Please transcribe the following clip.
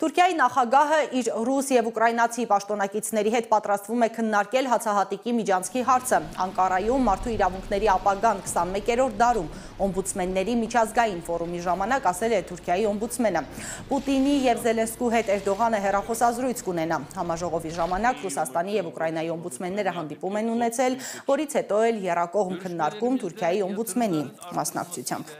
Թուրքիայի նախագահը իր ռուս և ուկրաինացի պաշտոնակիցների հետ պատրաստվում է քննարկել հացահատիկի միջանցքի հարցը։ Անկարայում մարդու իրավունքների ապագան 21-րդ դարում օմբուդսմենների միջազգային ֆորումի ժամանակ ասել է Թուրքիայի օմբուդսմենը։ Պուտինի և Զելենսկու հետ Էրդողանը հեռախոսազրույց կունենա։ Համաժողովի ժամանակ Ռուսաստանի և Ուկրաինայի օմբուդսմենները հանդիպում են ունեցել, որից հետո էլ եռակողմ քննարկում Թուրքիայի օմբուդսմենի մասնակցությամբ։